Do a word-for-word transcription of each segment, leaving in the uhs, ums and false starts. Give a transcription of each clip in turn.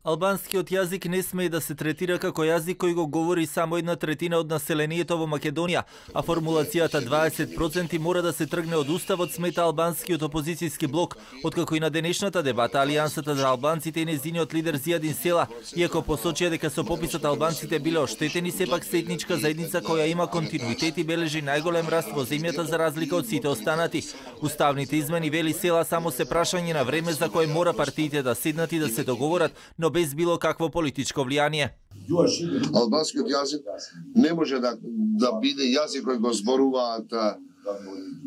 Албанскиот јазик не смее да се третира како јазик кој го говори само една третина од населението во Македонија, а формулацијата дваесет проценти мора да се тргне од уставот, смета албанскиот опозицијски блок, откако и на денешната дебата Алијансата за албанците и незиниот лидер Зијадин Села, иако посочија дека со пописот албанците биле оштетени, сепак се етничка заедница која има континуитет и бележи најголем раст во земјата за разлика од сите останати. Уставните измени, вели Села, само се прашање на време за кое мора партиите да седнат и да се договорат, но без било какво политичко влијание. Албанскиот јазик не може да, да биде јазик кој го зборуваат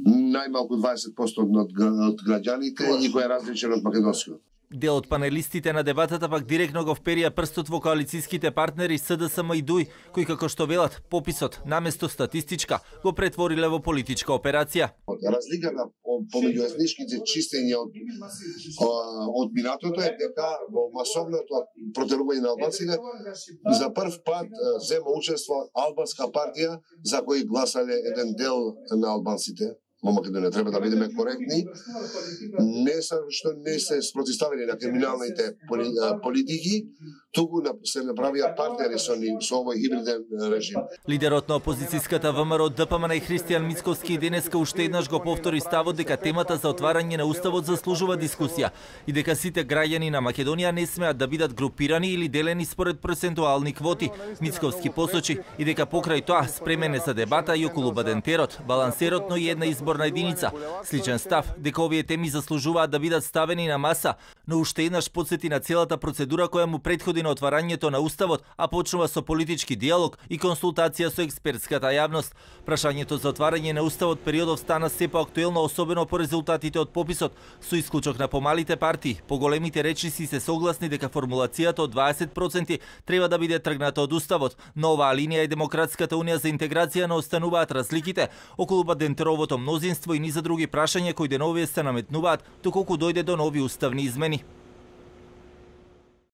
најмалку дваесет проценти од, од граѓаните и кој е различен од македонскиот. Дел од панелистите на дебатата пак директно го вперија прстот во коалицијските партнери СДСМ и ДУИ, кои како што велат, пописот наместо статистичка го претвориле во политичка операција. Разликата помеѓу етничките чистења од, од минатото е дека во масовното протерување на албанците за прв пат зема учество албанска партија за кој гласале еден дел на албанците во Македонија. Треба да бидеме коректни. Не са што не се спротивставени на криминалните политики, туку се направија партнери со ни со овој хибриден режим. Лидерот на опозицијската ВМРО ДПМН и Христијан Мицковски денеска уште еднаш го повтори ставот дека темата за отварање на уставот заслужува дискусија и дека сите граѓани на Македонија не смеат да бидат групирани или делени според процентуални квоти. Мицковски посочи и дека покрај тоа спремен е за дебата и околу бадентерот, балансерот, но и една изборна единица. Сличен став дека овие теми заслужуваат да бидат ставени на маса, но уште еднаш потсети на целата процедура која му претходи на отварањето на уставот, а почнува со политички диалог и консултација со експертската јавност. Прашањето за отварање на уставот периодов стана се поактуелно, особено по резултатите од пописот, со исклучок на помалите партии. Поголемите речиси се согласни дека формулацијата од дваесет проценти треба да биде тргната од уставот, но оваа линија и Демократската унија за интеграција не остануваат разликите околу бадентеровото мнозинство и низа други прашања кои деновие се наметнуваат доколку дојде до нови уставни измени.